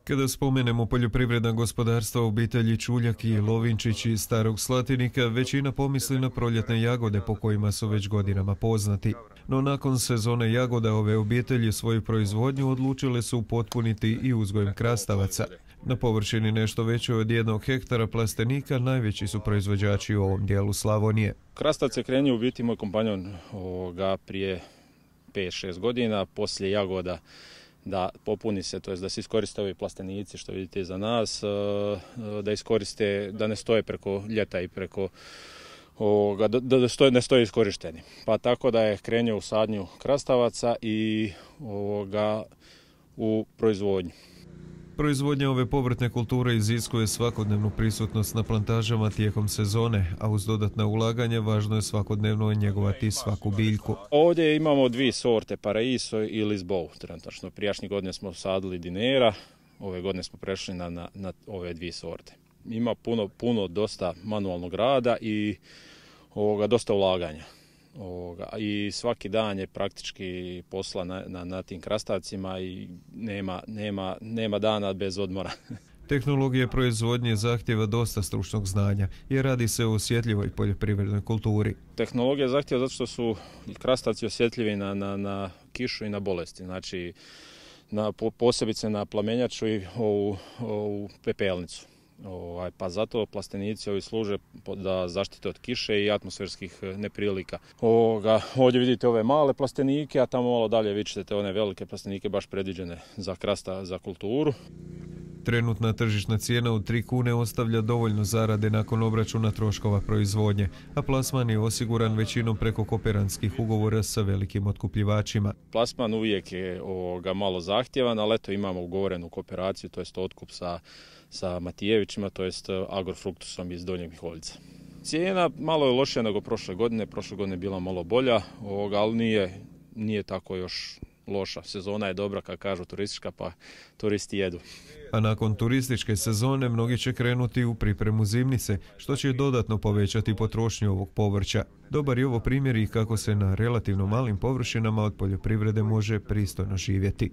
Kada spomenemo poljoprivredna gospodarstva obitelji Čuljak i Lovinčić iz Starog Slatinika, većina pomisli na proljetne jagode po kojima su već godinama poznati. No nakon sezone jagoda ove obitelji svoju proizvodnju odlučile su upotpuniti i uzgojem krastavaca. Na površini nešto većoj od 1 hektara plastenika najveći su proizvođači u ovom dijelu Slavonije. Krastavac je krenuo u biti moj kompanjon prije 5-6 godina, poslije jagoda, da popuni se, to jest da se iskoriste ovi plastenici što vidite iza nas, da iskoriste, da ne stoje preko ljeta i preko da ne stoje iskorišteni. Pa tako da je krenuo u sadnju krastavaca i u proizvodnju. Proizvodnja ove povrtne kulture iziskuje svakodnevnu prisutnost na plantažama tijekom sezone, a uz dodatna ulaganja važno je svakodnevno njegovati svaku biljku. Ovdje imamo 2 sorte, Paraiso i Lisboa. Trenutačno prijašnje godine smo sadili Dinera, ove godine smo prešli na ove 2 sorte. Ima puno dosta manualnog rada i dosta ulaganja. I svaki dan je praktički posla na tim krastavcima i nema dana bez odmora. Tehnologija proizvodnje zahtjeva dosta stručnog znanja jer radi se o osjetljivoj poljoprivrednoj kulturi. Tehnologija zahtjeva zato što su krastavci osjetljivi na kišu i na bolesti, znači posebice na plamenjaču i ovu pepelnicu. Pa zato plastenici ovi služe da zaštite od kiše i atmosferskih neprilika. Ovdje vidite ove male plastenike, a tamo malo dalje vi ćete one velike plastenike baš predviđene za krasta, za kulturu. Trenutna tržišna cijena od 3 kune ostavlja dovoljno zarade nakon obračuna troškova proizvodnje, a plasman je osiguran većinom preko kooperantskih ugovora sa velikim otkupljivačima. Plasman uvijek je malo zahtjevan, ali eto imamo ugovorenu kooperaciju, to jest otkup sa Matijevićima, to jest Agrofruktusom iz Donjeg Miholjica. Cijena malo je lošija nego prošle godine je bila malo bolja, ali nije tako još loša. Sezona je dobra, kako kažu, turistička, pa turisti jedu. A nakon turističke sezone mnogi će krenuti u pripremu zimnice, što će dodatno povećati potrošnju ovog povrća. Dobar je ovo primjer i kako se na relativno malim površinama od poljoprivrede može pristojno živjeti.